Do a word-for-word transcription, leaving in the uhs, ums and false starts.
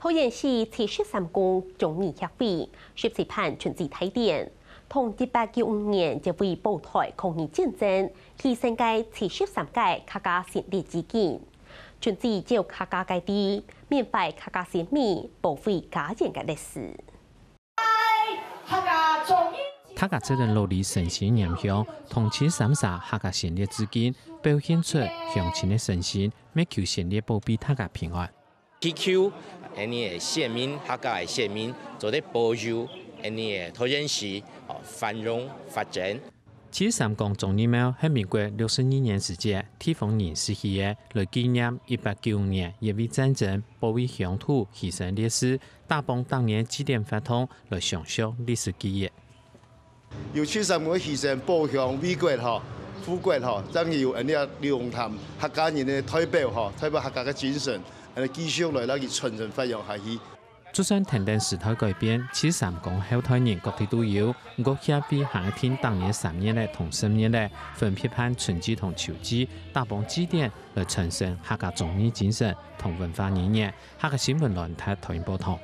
桃園市七十三公忠義協會十七辦春節大典，同一八九五年接位保台抗日戰爭犧牲个七十三个客家先烈致敬。春節照客家个地，緬懷客家先民，保衛家園个歷史。大家做得落力誠心拈香，同七三儕客家先烈致敬，表現出鄉親个誠心，為求先烈保庇大家平安。祈求𫣆俚个先民，客家个先民，做得保佑𫣆俚个桃園市，哦，繁榮發展。七三公忠義廟係民國六十二年時節地方人設起个，來紀念一八九五年乙未戰爭保衛鄉土犧牲烈士，打幫當年祭典活動來承續歷史記憶。有七三公犧牲保鄉衛國吼、護國吼，正有𫣆俚龍潭客家人个代表吼，代表客家个精神，𫣆俚繼續來摎佢傳承發揚下去。 就算跈等時代改變，七三公後代人各地都有，毋過協會還係定當年三月仔同十月仔，分別辦春祭同秋祭，打幫祭典來傳承客家忠義精神同文化語言。客家新聞，阮達，台灣報導。